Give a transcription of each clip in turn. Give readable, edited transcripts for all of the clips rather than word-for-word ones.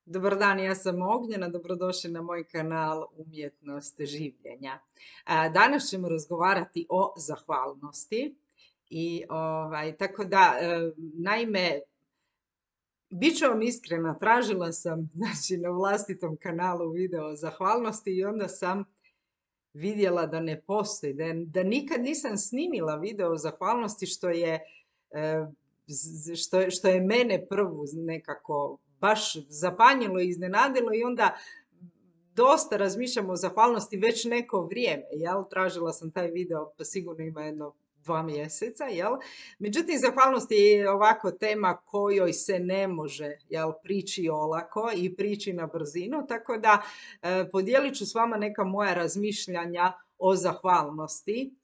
Dobar dan, ja sam Ognjena, dobrodošli na moj kanal Umjetnost življenja. Danas ćemo razgovarati o zahvalnosti i tako da, naime, bit ću vam iskrena, tražila sam znači, na vlastitom kanalu video o zahvalnosti i onda sam vidjela da ne postoji, da nikad nisam snimila video o zahvalnosti e, što je mene prvu nekako baš zapanjilo i iznenadilo i onda dosta razmišljam o zahvalnosti već neko vrijeme, jel? Tražila sam taj video, pa sigurno ima jedno 2 mjeseca, jel? Međutim, zahvalnost je ovako tema kojoj se ne može, jel, prići olako i prići na brzinu, tako da podijelit ću s vama neka moja razmišljanja o zahvalnosti.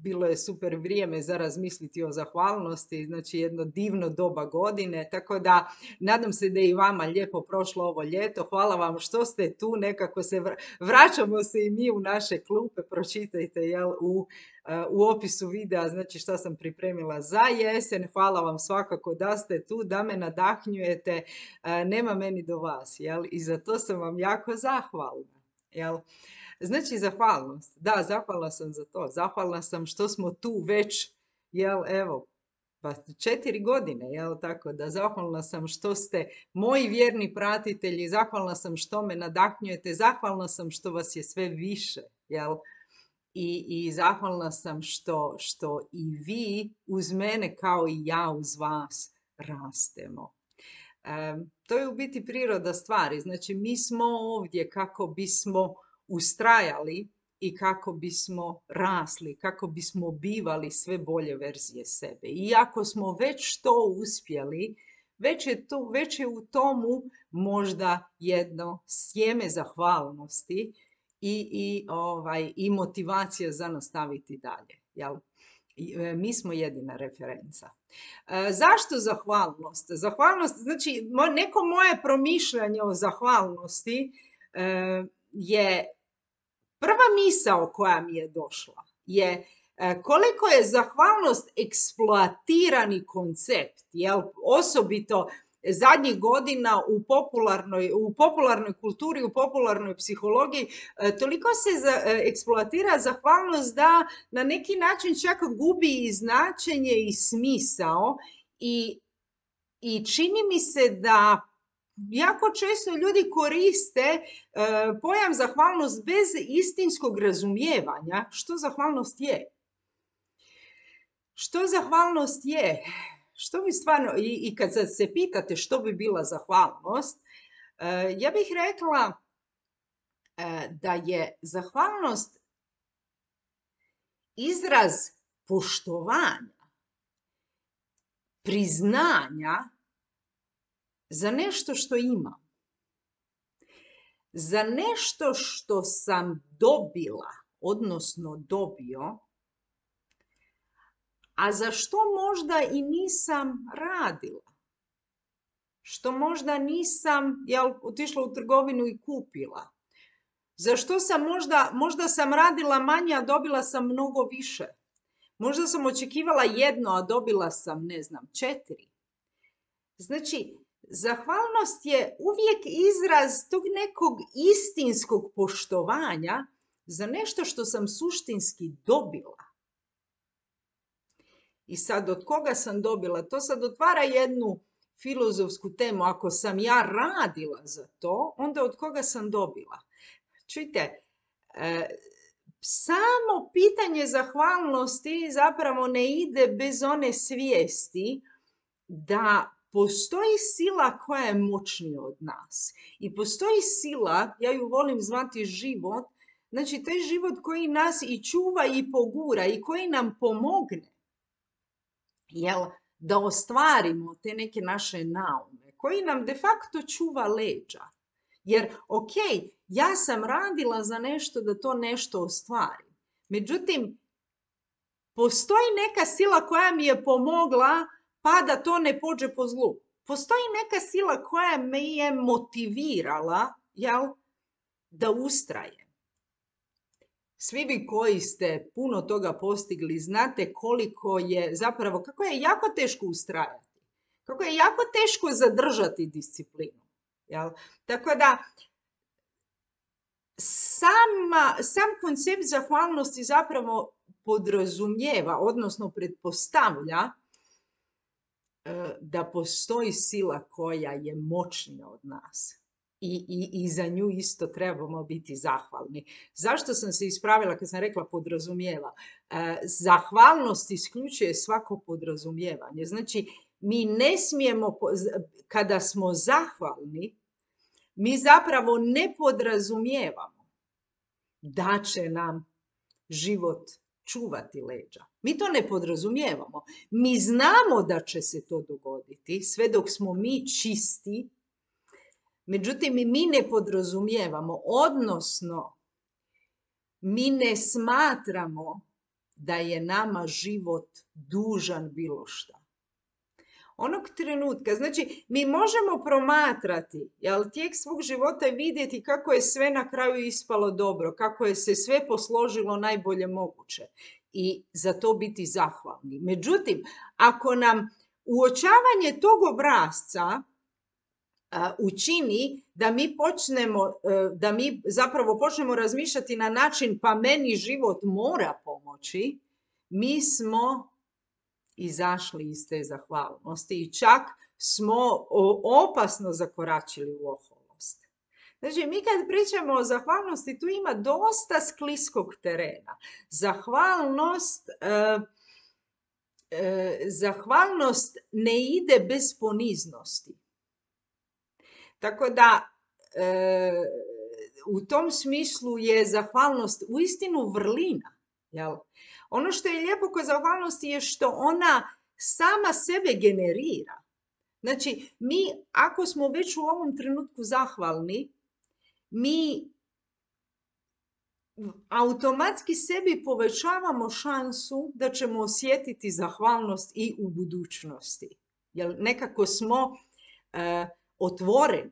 Bilo je super vrijeme za razmisliti o zahvalnosti, znači jedno divno doba godine, tako da nadam se da je i vama lijepo prošlo ovo ljeto. Hvala vam što ste tu, nekako vraćamo se i mi u naše klupe, pročitajte jel, u opisu videa znači šta sam pripremila za jesen. Hvala vam svakako da ste tu, da me nadahnjujete, nema meni do vas, jel? I za to sam vam jako zahvalna, jel? Znači, zahvalnost. Da, zahvalna sam za to. Zahvalna sam što smo tu već, jel, evo, pa 4 godine, jel, tako da zahvalna sam što ste moji vjerni pratitelji, zahvalna sam što me nadahnjujete, zahvalna sam što vas je sve više, jel, i zahvalna sam što i vi uz mene kao i ja uz vas rastemo. To je u biti priroda stvari. Znači, mi smo ovdje kako bismo ustrajali i kako bismo rasli, kako bismo bivali sve bolje verzije sebe. I ako smo već to uspjeli, već je u tomu možda jedno sjeme zahvalnosti i motivacija za nastaviti dalje. Jel? Mi smo jedina referenca. Zašto zahvalnost? Zahvalnost, znači neko moje promišljanje o zahvalnosti je prva misao koja mi je došla je koliko je zahvalnost eksploatirani koncept, jel? Osobito zadnjih godina u popularnoj kulturi, u popularnoj psihologiji, toliko se eksploatira zahvalnost da na neki način čak gubi i značenje i smisao i čini mi se da jako često ljudi koriste pojam zahvalnost bez istinskog razumijevanja što zahvalnost je. Što zahvalnost je? Što bi stvarno, i kad se pitate što bi bila zahvalnost, ja bih rekla da je zahvalnost izraz poštovanja, priznanja za nešto što imam, za nešto što sam dobila, odnosno dobio, a za što možda i nisam radila, što možda nisam otišla u trgovinu i kupila, za što sam možda sam radila manje, a dobila sam mnogo više. Možda sam očekivala 1, a dobila sam, 4. Znači, zahvalnost je uvijek izraz tog nekog istinskog poštovanja za nešto što sam suštinski dobila. I sad, od koga sam dobila? To sad otvara jednu filozofsku temu. Ako sam ja radila za to, onda od koga sam dobila? Čujte, samo pitanje zahvalnosti zapravo ne ide bez one svijesti da postoji sila koja je moćnija od nas. I postoji sila, ja ju volim zvati život, znači taj život koji nas i čuva i pogura i koji nam pomogne, jel, da ostvarimo te neke naše naume, koji nam de facto čuva leđa. Jer, ok, ja sam radila za nešto da to nešto ostvarim. Međutim, postoji neka sila koja mi je pomogla pa da to ne pođe po zlu. Postoji neka sila koja me je motivirala, jel, da ustrajem. Svi vi koji ste puno toga postigli, znate koliko je zapravo, kako je jako teško ustrajati. Kako je jako teško zadržati disciplinu. Jel? Tako da, sam koncept zahvalnosti zapravo podrazumijeva, odnosno pretpostavlja da postoji sila koja je moćnija od nas. I za nju isto trebamo biti zahvalni. Zašto sam se ispravila kad sam rekla podrazumijeva? Zahvalnost isključuje svako podrazumijevanje. Znači, mi ne smijemo, kada smo zahvalni, mi zapravo ne podrazumijevamo da će nam život čuvati leđa. Mi to ne podrazumijevamo. Mi znamo da će se to dogoditi sve dok smo mi čisti. Međutim, mi ne podrazumijevamo, odnosno mi ne smatramo da je nama život dužan bilo šta. Onog trenutka, znači mi možemo promatrati tijek svog života i vidjeti kako je sve na kraju ispalo dobro, kako je se sve posložilo najbolje moguće i za to biti zahvalni. Međutim, ako nam uočavanje tog obrasca učini da mi zapravo počnemo razmišljati na način pa meni život mora pomoći, mi smo izašli iz te zahvalnosti i čak smo opasno zakoračili u oholost. Znači, mi kad pričamo o zahvalnosti, tu ima dosta skliskog terena. Zahvalnost ne ide bez poniznosti. Tako da, u tom smislu je zahvalnost uistinu vrlina. Jel? Ono što je lijepo kod zahvalnosti je što ona sama sebe generira. Znači, mi ako smo već u ovom trenutku zahvalni, mi automatski sebi povećavamo šansu da ćemo osjetiti zahvalnost i u budućnosti. Jer nekako smo otvoreni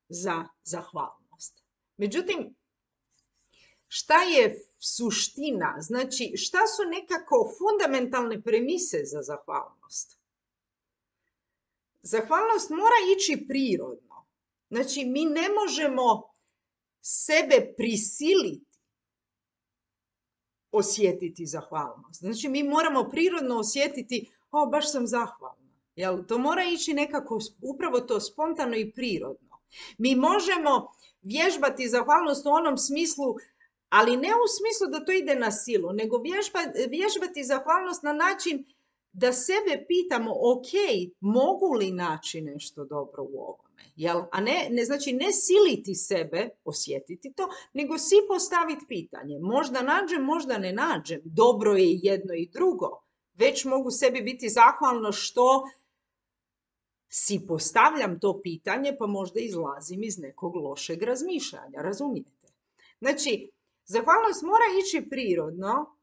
za zahvalnost. Međutim, šta je suština? Znači, šta su nekako fundamentalne premise za zahvalnost? Zahvalnost mora ići prirodno. Znači, mi ne možemo sebe prisiliti osjetiti zahvalnost. Znači, mi moramo prirodno osjetiti, baš sam zahvalna. Jel? To mora ići nekako, upravo to spontano i prirodno. Mi možemo vježbati zahvalnost u onom smislu, ali ne u smislu da to ide na silu, nego vježbati zahvalnost na način da sebe pitamo, ok, mogu li naći nešto dobro u ovome? Jel? A znači ne siliti sebe, osjetiti to, nego si postaviti pitanje. Možda nađem, možda ne nađem. Dobro je i jedno i drugo. Već mogu sebi biti zahvalna što si postavljam to pitanje, pa možda izlazim iz nekog lošeg razmišljanja. Razumijete? Znači, zahvalnost mora ići prirodno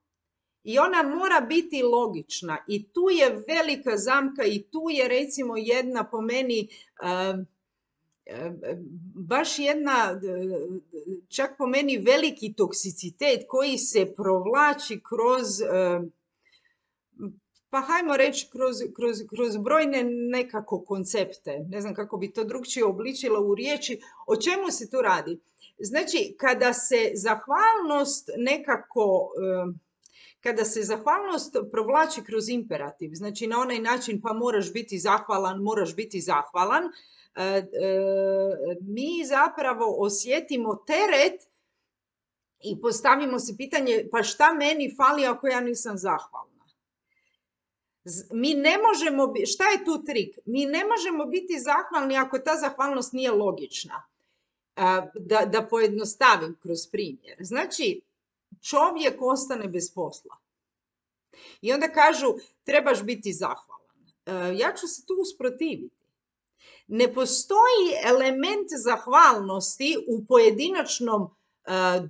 i ona mora biti logična. I tu je velika zamka i tu je recimo jedna po meni, baš jedna, čak po meni veliki toksicitet koji se provlači kroz, pa hajmo reći kroz brojne nekako koncepte. Ne znam kako bi to drugčije obličila u riječi. O čemu se tu radi? Znači, kada se zahvalnost provlači kroz imperativ, znači na onaj način pa moraš biti zahvalan, mi zapravo osjetimo teret i postavimo se pitanje pa šta meni fali ako ja nisam zahvalna. Mi ne možemo, šta je tu trik? Mi ne možemo biti zahvalni ako ta zahvalnost nije logična. Da pojednostavim kroz primjer. Znači, čovjek ostane bez posla. I onda kažu, trebaš biti zahvalan. Ja ću se tu usprotiviti. Ne postoji element zahvalnosti u pojedinačnom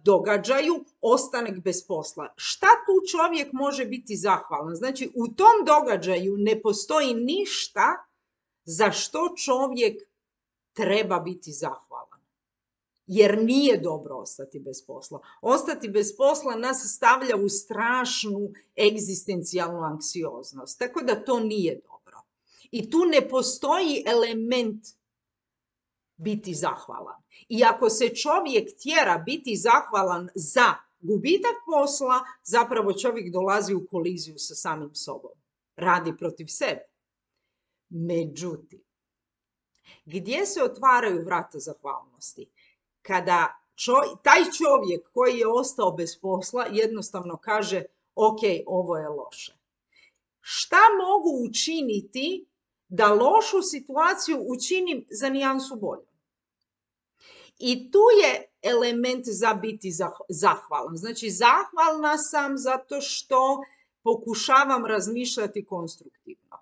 događaju ostanak bez posla. Šta tu čovjek može biti zahvalan? Znači, u tom događaju ne postoji ništa za što čovjek treba biti zahvalan. Jer nije dobro ostati bez posla. Ostati bez posla nas stavlja u strašnu egzistencijalnu anksioznost. Tako da to nije dobro. I tu ne postoji element biti zahvalan. I ako se čovjek tjera biti zahvalan za gubitak posla, zapravo čovjek dolazi u koliziju sa samim sobom. Radi protiv sebe. Međutim, gdje se otvaraju vrata zahvalnosti? Kada taj čovjek koji je ostao bez posla jednostavno kaže, ok, ovo je loše. Šta mogu učiniti da lošu situaciju učinim za nijansu bolju? I tu je element za biti zahvalan. Znači, zahvalna sam zato što pokušavam razmišljati konstruktivno.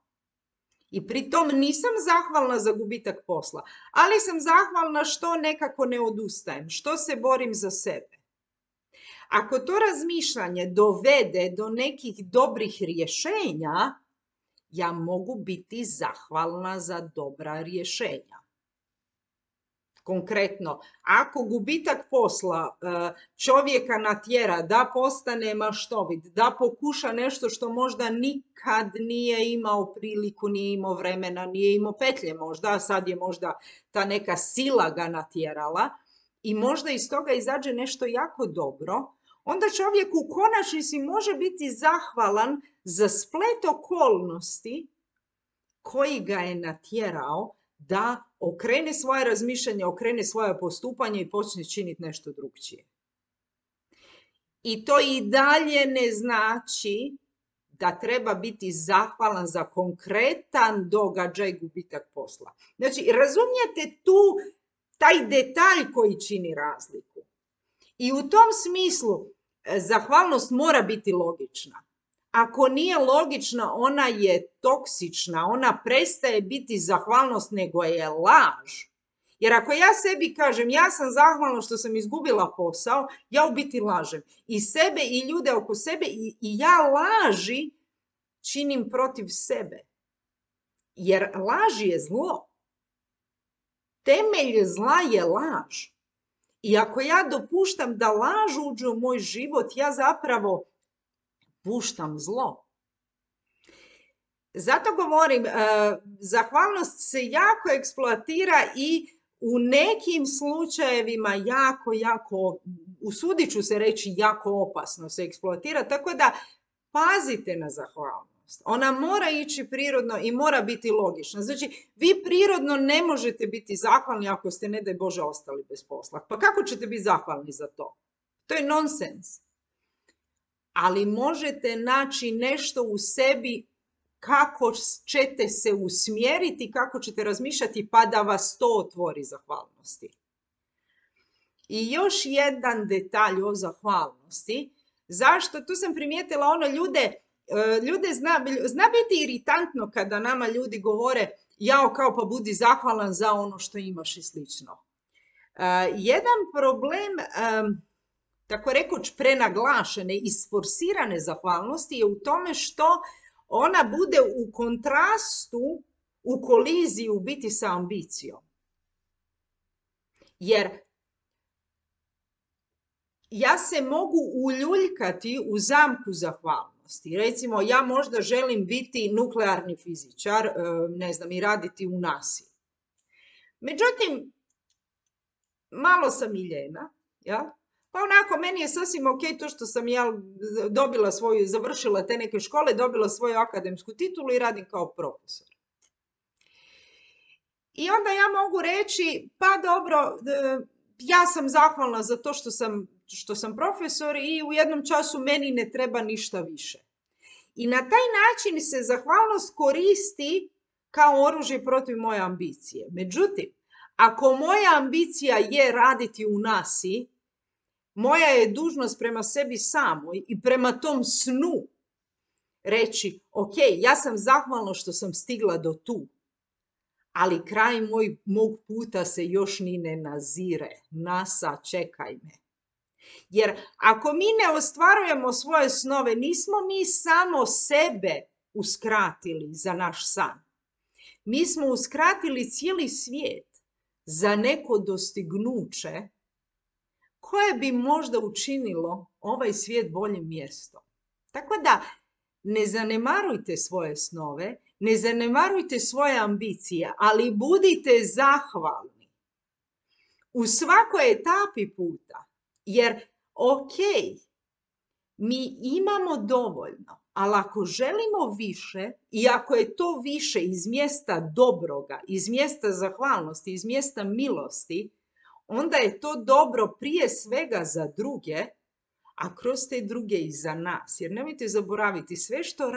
I pritom nisam zahvalna za gubitak posla, ali sam zahvalna što nekako ne odustajem, što se borim za sebe. Ako to razmišljanje dovede do nekih dobrih rješenja, ja mogu biti zahvalna za dobra rješenja. Konkretno, ako gubitak posla čovjeka natjera da postane maštovit, da pokuša nešto što možda nikad nije imao priliku, nije imao vremena, nije imao petlje možda, a sad je možda ta neka sila ga natjerala i možda iz toga izađe nešto jako dobro, onda čovjek u konačnici može biti zahvalan za splet okolnosti koji ga je natjerao da okrene svoje razmišljanje, okrene svoje postupanje i počne činiti nešto drugčije. I to i dalje ne znači da treba biti zahvalan za konkretan događaj gubitak posla. Znači, razumijete tu taj detalj koji čini razliku. I u tom smislu zahvalnost mora biti logična. Ako nije logična, ona je toksična, ona prestaje biti zahvalnost, nego je laž. Jer ako ja sebi kažem, ja sam zahvalna što sam izgubila posao, ja u biti lažem. I sebe i ljude oko sebe i ja laži činim protiv sebe. Jer laž je zlo. Temelj zla je laž. I ako ja dopuštam da laž uđe u moj život, ja zapravo puštam zlo. Zato govorim, zahvalnost se jako eksploatira i u nekim slučajevima jako, usudit ću se reći, jako opasno se eksploatira, tako da pazite na zahvalnost. Ona mora ići prirodno i mora biti logična. Znači, vi prirodno ne možete biti zahvalni ako ste, ne daj Bože, ostali bez posla. Pa kako ćete biti zahvalni za to? To je nonsens. Ali možete naći nešto u sebi kako ćete se usmjeriti, kako ćete razmišljati pa da vas to otvori zahvalnosti. I još jedan detalj o zahvalnosti. Zašto? Tu sam primijetila ljude zna biti iritantno kada nama ljudi govore jao kao pa budi zahvalan za ono što imaš i slično. Jedan problem tako rekoć prenaglašene i sforsirane zahvalnosti je u tome što ona bude u kontrastu, u koliziji u biti sa ambicijom. Jer ja se mogu uljuljkati u zamku zahvalnosti. Recimo, ja možda želim biti nuklearni fizičar, ne znam, i raditi u NASA-i. Međutim, malo sam i ljena, jel? Pa onako, meni je sasvim ok to što sam ja završila te neke škole, dobila svoju akademsku titulu i radim kao profesor. I onda ja mogu reći, pa dobro, ja sam zahvalna za to što sam profesor i u jednom času meni ne treba ništa više. I na taj način se zahvalnost koristi kao oružje protiv moje ambicije. Međutim, ako moja ambicija je raditi u NASA-i, moja je dužnost prema sebi samoj i prema tom snu reći, ok, ja sam zahvalna što sam stigla do tu, ali kraj mog puta se još ni ne nazire. NASA, čekaj me. Jer ako mi ne ostvarujemo svoje snove, nismo mi samo sebe uskratili za naš san. Mi smo uskratili cijeli svijet za neko dostignuće koje bi možda učinilo ovaj svijet boljim mjestom. Tako da ne zanemarujte svoje snove, ne zanemarujte svoje ambicije, ali budite zahvalni. u svakoj etapi puta. Jer, ok, mi imamo dovoljno, ali ako želimo više i ako je to više iz mjesta dobroga, iz mjesta zahvalnosti, iz mjesta milosti, onda je to dobro prije svega za druge, a kroz te druge i za nas. Jer nemojte zaboraviti, sve što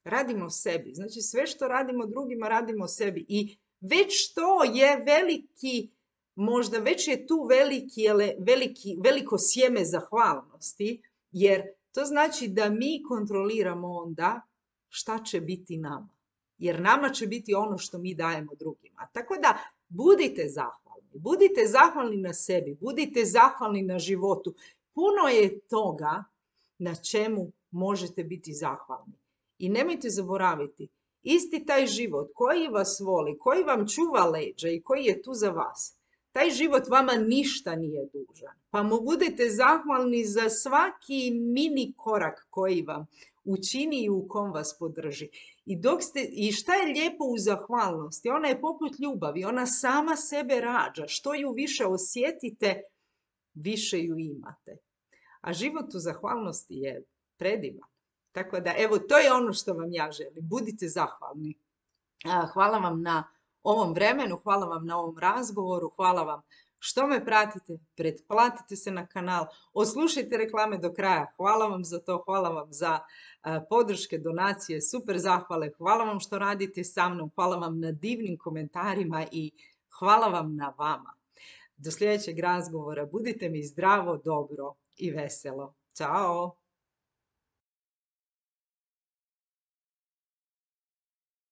radimo sebi. Znači sve što radimo drugima, radimo sebi. I već to je veliki, možda već je tu veliko sjeme zahvalnosti, jer to znači da mi kontroliramo onda šta će biti nama. Jer nama će biti ono što mi dajemo drugima. Tako da budite zahvalni. Budite zahvalni na sebi. Budite zahvalni na životu. Puno je toga na čemu možete biti zahvalni. I nemojte zaboraviti, isti taj život koji vas voli, koji vam čuva leđa i koji je tu za vas, taj život vama ništa nije dužan. Pa mu budete zahvalni za svaki mini korak koji vam učini i u kom vas podrži. I šta je lijepo u zahvalnosti? Ona je poput ljubavi, ona sama sebe rađa. Što ju više osjetite, više ju imate. A život u zahvalnosti je predivan. Tako da, evo, to je ono što vam ja želim. Budite zahvalni. Hvala vam na ovom vremenu, hvala vam na ovom razgovoru, hvala vam što me pratite, pretplatite se na kanal, oslušajte reklame do kraja, hvala vam za to, hvala vam za podrške, donacije, super zahvale, hvala vam što radite sa mnom, hvala vam na divnim komentarima i hvala vam na vama. Do sljedećeg razgovora, budite mi zdravo, dobro i veselo. Ćao!